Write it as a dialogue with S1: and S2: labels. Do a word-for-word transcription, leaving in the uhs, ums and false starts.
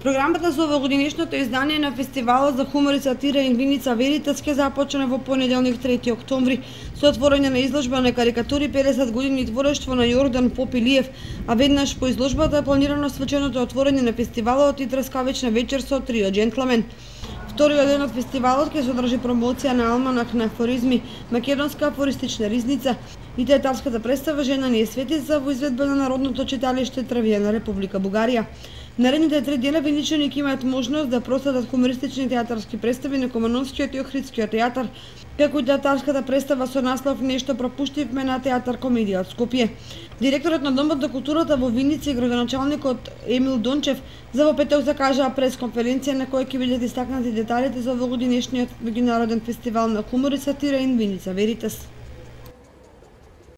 S1: Програмата за овогодинешното издание на фестивалот за хумор и сатира Инвиница Веритас ќе започне во понеделник трети октомври со отворање на изложба на карикатури педесет години творештво на Јордан Попилиев, а веднаш по изложбата е планирано свеченото отворање на фестивалот и трескавична вечер со трио џентлмен. Вториот ден од фестивалот ќе содржи промоција на алманах на афоризми, македонска афористична ризница и театарската представа Жена ни е светица во изведба на Народното читалиште Трвија на Република Бугарија. Наредните три дена виничани ќе имаат можност да проследат хумористични театарски представи на Комановскиот и Охридскиот театар, како и театарската представа со наслов Нешто пропуштивме на театар Комедија од Скопје. Директорот на Домот за културата во Виница и градоначалникот Емил Дончев за во петок закажаа пресконференција на која ќе бидат истакнати деталите за овогодинешниот меѓународен фестивал на хумор и сатира Инвиница Веритас.